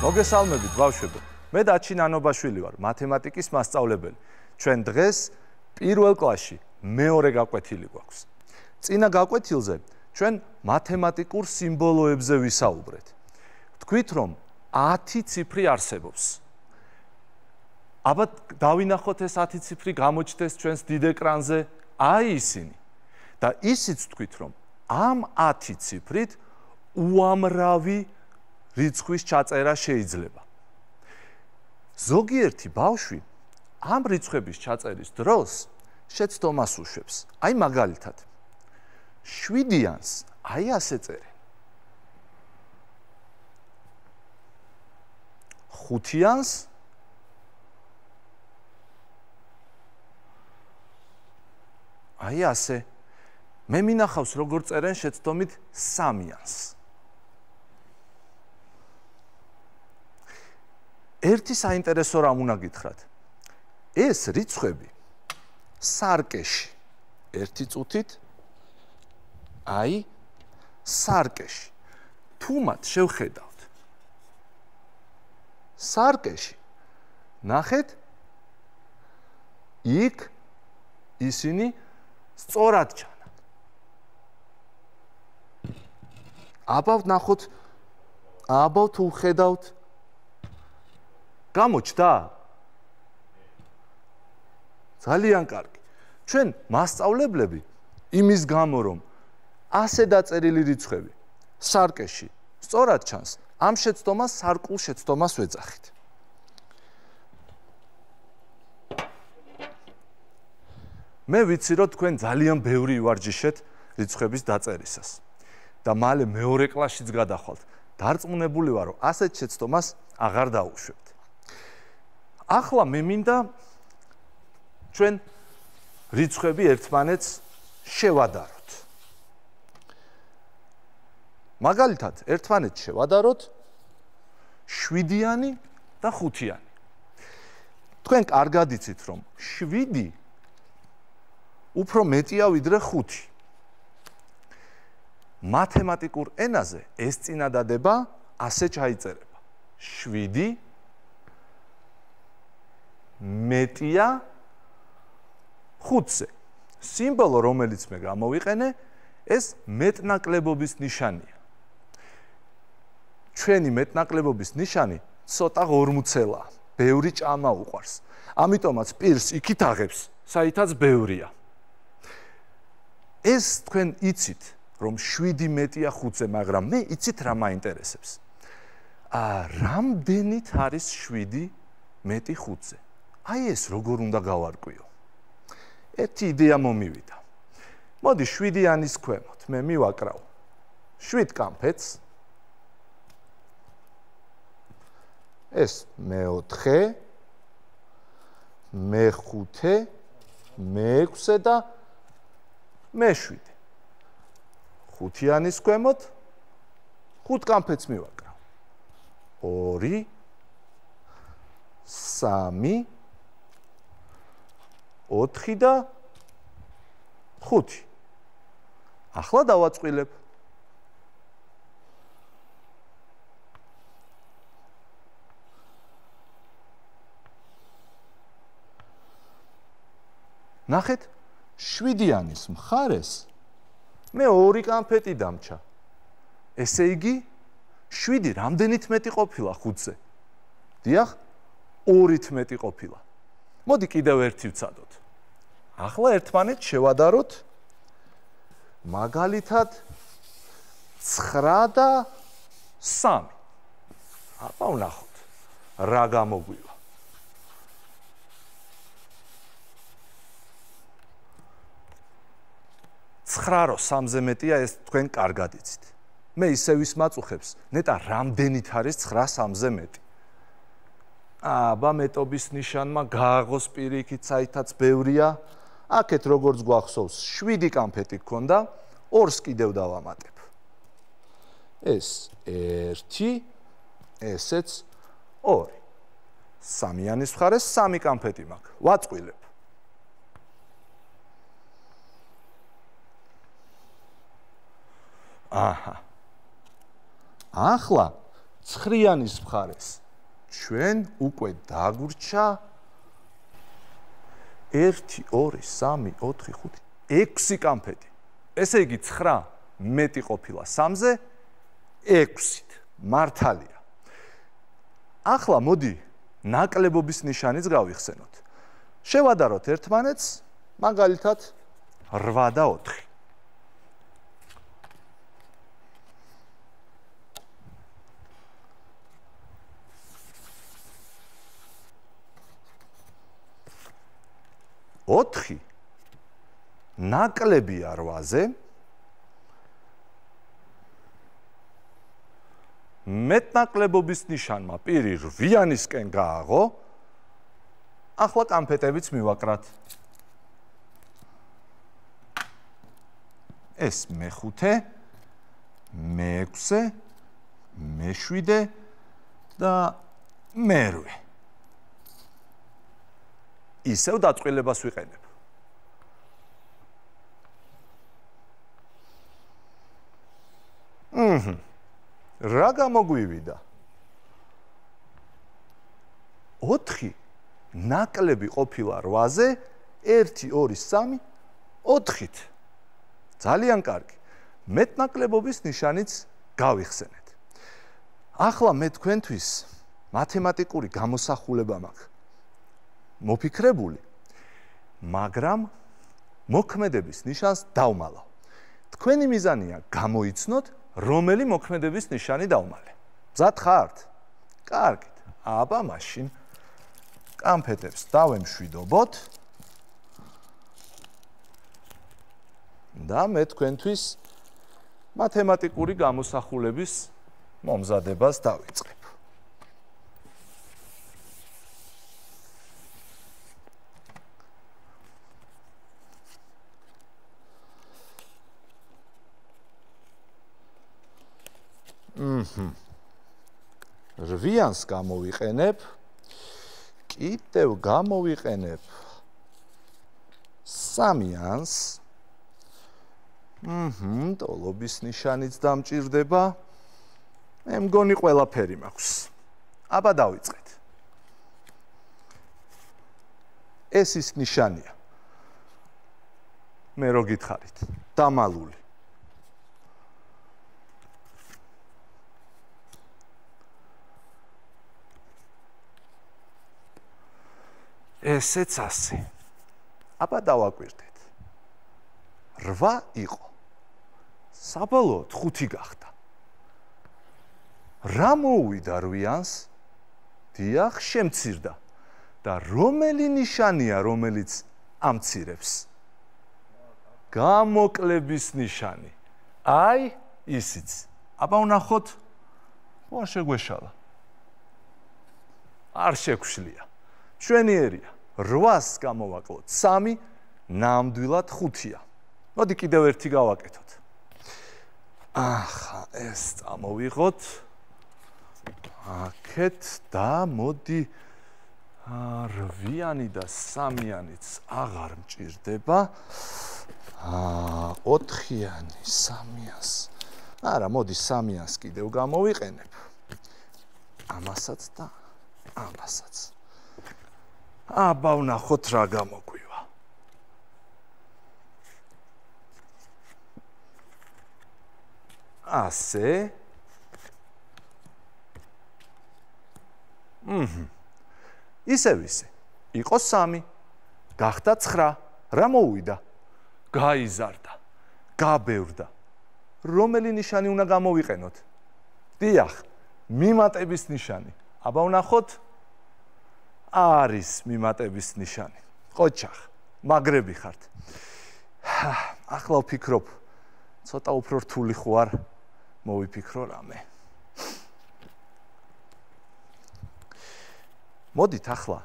მოგესალმებით ბავშვებო. მე დაჩი ნანობაშვილი ვარ, მათემატიკის მასწავლებელი. ჩვენ დღეს პირველ კლასში მეორე გაკვეთილი გვაქვს. წინა გაკვეთილზე ჩვენ მათემატიკურ სიმბოლოებზე ვისაუბრეთ. თქვით რომ 10 ციფრი არსებობს. აბა დავინახოთ ეს 10 ციფრი გამოჩნდეს ჩვენს დიდ ეკრანზე, აი ისინი. და ისიც თქვით რომ ამ 10 ციფრით უამრავი რიცხვის ჩაწერა შეიძლება. ზოგიერთი ბავშვი ამ რიცხვების ჩაწერის დროს შეცდომას უშვებს. აი მაგალითად 7-იანს აი ასე წერენ. 5-იანს აი ასე. მე მინახავს როგორ წერენ შეცდომით 3-იანს. ერთი საინტერესო რამ უნდა გითხრათ. ეს რიცხვები სარკეში ერთი წუთით აი სარკეში თუ მათ შევხედავთ სარკეში ნახეთ იქ ისინი სწორად ჩანან. აბა ნახოთ აბა თუ ხედავთ გამოჩნდა? ძალიან კარგი. ჩვენ მასწავლებლები იმის გამო რომ ასე დაწერილი რიცხვები სარკეში სწორად ჩანს, ამ შეცდომას სარკულ შეცდომას ვეძახით. მე ვიცი რომ თქვენ ძალიან ბევრი ივარჯიშეთ რიცხვების დაწერისას და მალე მეორე კლასშიც გადახვალთ. დარწმუნებული ვარ რომ ასეთ შეცდომას აღარ დაუშვებთ. ახლა მე მინდა ჩვენ რიცხვები ერთმანეთს შევადაროთ. მაგალითად, ერთმანეთს შევადაროთ 7-იანი და 5-იანი. თქვენ კარგად იცით რომ 7 უფრო მეტია ვიდრე 5. მათემატიკურ ენაზე ეს წინადადება ასე ჩაიწერება. 7 მეტია 5-ზე. სიმბოლო რომელიც მე გამოვიყენე, ეს მეტნაკლებობის ნიშანია. ჩვენი მეტნაკლებობის ნიშანი ცოტა ღორმუცელაა, ბევრი ჭამა უყვარს. ამიტომაც პირს იქით აღებს, საითაც ბევრია. ეს თქვენ იცით, რომ 7 მეტია 5-ზე, მაგრამ მე იცით რა მაინტერესებს. რამდენით არის 7 მეტი 5-ზე? აი ეს როგორ უნდა გავარკვიო. ერთი იდეა მომივიდა. მოდი 7-იანის ქვემოთ მე მივაკრავ 7 კამფეთს. ეს მე-4, მე-5, მე-6 და მე-7. 5-იანის ქვემოთ 5 კამფეთს მივაკრავ. 2, 3, 4 და 5. ახლა დავაწყვილებ. ნახეთ, 7-იანის მხარეს მე 2 კამფეტი დამჩა. ესე იგი 7 რამდენით მეტი ყოფილა 5-ზე? დიახ, 2-ით მეტი ყოფილა. მოდი კიდევ ერთი ვცადოთ. ახლა ერთმანეთს შევადაროთ მაგალითად 9 და 3. აბა ვნახოთ რა გამოგვივა. რო 3-ზე მეტია, ეს თქვენ კარგად იცით. მე ისე ვისმაწუხებს, ნეტა რამდენით არის 9 3-ზე მეტი. აბა მეტობის ნიშანმა გააღოს პირიქით, საითაც ბევრია. აქეთ როგორც გვახსოვს 7 კამფეტი გქონდა, 2-ს კიდევ დავამატებ. ეს 1, ესეც 2. 3-იანის მხარეს 3 კამფეტი მაქვს. ვაწყვილებ. აჰა. ახლა 9-იანის მხარეს ჩვენ უკვე დაგვრჩა 1 2 3 4 5 6 კამფეტი. ესე იგი 9 მეტი ყოფილა 3-ზე 6-ით. მართალია. ახლა მოდი ნაკლებობის ნიშანიც გავიხსენოთ. შევადაროთ ერთმანეთს, მაგალითად 8 და 4. ოთხი ნაკლებია 8-ზე მეტნაკლებობის ნიშანმა პირი 8-იანისკენ გააღო. ახლა კამფეტებიც მივაკრათ. ეს მე-5, მე-6, მე-7 და მე-8. ისევ დაწყვილებას ვიყენებ. რა გამოგვივიდა? 4 ნაკლები ყოფილა 8-ზე 1 2 3 4-ით. ძალიან კარგი. მეტნაკლებობის ნიშანიც გავიხსენეთ. ახლა მე თქვენთვის მათემატიკური გამოსახულება მაქვს მოფიქრებული, მაგრამ მოქმედების ნიშანს დავმალავ. თქვენი მიზანია გამოიცნოთ, რომელი მოქმედების ნიშანი დავმალე. მზად ხართ? კარგით. აბა მაშინ კამფეტებს დავემშვიდობოთ და მე თქვენთვის მათემატიკური გამოსახულების მომზადებას დავიწყებ. რვიანს გამოვიყენებ, კიდევ გამოვიყენებ 3-იანს. ტოლობის ნიშანიც დამჭირდება. მე მგონი ყველაფერი მაქვს. აბა დავიწყეთ. ეს ის ნიშანია. მე რო გითხარით, დამალული. ესეც ასე. აბა დავაკვირდეთ. 8 იყო. საბოლოოდ 5 გახდა. რა მოუვიდა 8-იანს? დიახ, შემცირდა. და რომელი ნიშანია, რომელიც ამცირებს? გამოკლების ნიშანი. აი, ისიც. აბა ვნახოთ. ხო, არ შეგვეშალა. არ შეგვშლია. მშვენიერია. 8-ს გამოვაკლოთ 3, ნამდვილად 5-ია. მოდი კიდევ ერთი გავაკეთოთ. ახლა ეს წამოვიღოთ. აქეთ და მოდი 8-იანი და 3-იანიც აღარ მჭირდება. 4-იანი 3-იანს. არა, მოდი 3-იანს კიდევ გამოვიყენებ. ამასაც და ამასაც. აბა ვნახოთ რა გამოგვივა. ასე. ისევ ისე. იყო 3, გახდა 9. რა მოუვიდა? გაიზარდა, გაბევრდა. რომელი ნიშანი უნდა გამოვიყენოთ? დიახ, მიმატების ნიშანი. აბა ვნახოთ. არის მიმატების ნიშანი. ყოჩახ, მაგრები ხართ. ახლა ვფიქრობ, ცოტა უფრო რთული ხო არ მოვიფიქრო რამე. მოდით ახლა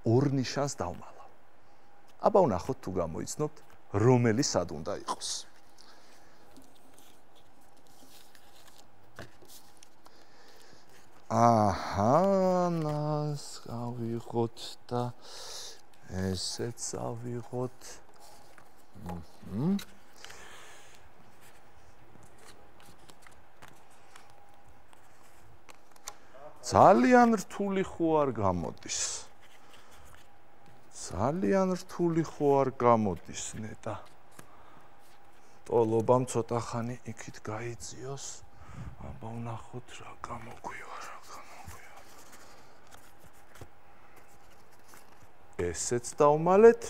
2 ნიშანს დავმალავ. აბა ვნახოთ თუ გამოიცნობთ, რომელი სად უნდა იყოს. ნას გავიღოთ და ესეც ავიღოთ. ძალიან რთული ხო არ გამოდის. ძალიან რთული ხო არ გამოდის, ნეტა. ტოლობამ ცოტა ხანი იქით გაიწიოს. აბა ვნახოთ რა გამოგვივა. ესეც დავმალეთ.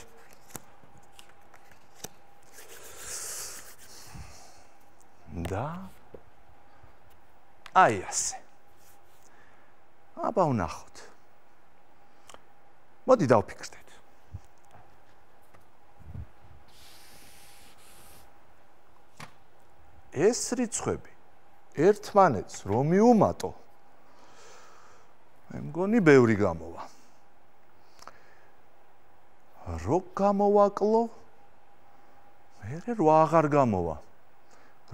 და აი ასე. აბა ვნახოთ. მოდი დავფიქრდეთ. ეს რიცხვები ერთმანეთს რომ მიუმატო, მე მგონი ბევრი გამოვა. რო გამოვაკლო, მერე რო აღარ გამოვა.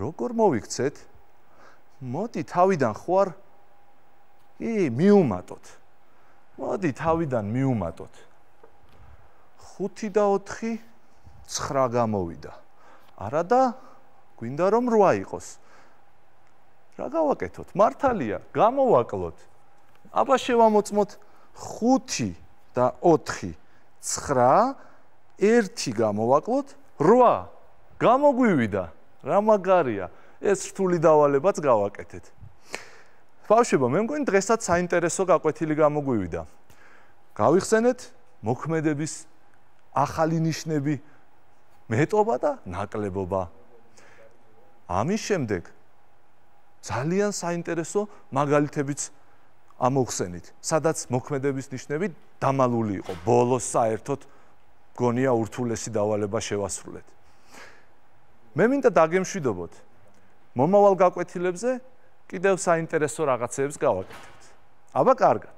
როგორ მოვიქცეთ? მოდი თავიდან ხო არ მიუმატოთ. მოდი თავიდან მიუმატოთ. 5 და 4 9 გამოვიდა. არა და გვინდა რომ 8 იყოს. რა გავაკეთოთ? მართალია, გამოვაკლოთ. აბა შევამოწმოთ 5 და 4 9 1 გამოვაკლოთ 8 გამოგვივიდა. რა მაგარია. ეს რთული დავალებაც გავაკეთეთ. ბავშვებო, მე მგონი დღესაც საინტერესო გაკვეთილი გამოგვივიდა. გავიხსენეთ მოქმედების ახალი ნიშნები, მეტობა და ნაკლებობა. ამის შემდეგ ძალიან საინტერესო მაგალითებიც ამოვხსენით, სადაც მოქმედების ნიშნები დამალული იყო. ბოლოს საერთოდ გონია ურთულესი დავალება შევასრულეთ. მე მინდა დაგემშვიდობოთ. მომავალ გაკვეთილებზე კიდევ საინტერესო რაღაცებს გავაკეთებთ. აბა კარგად.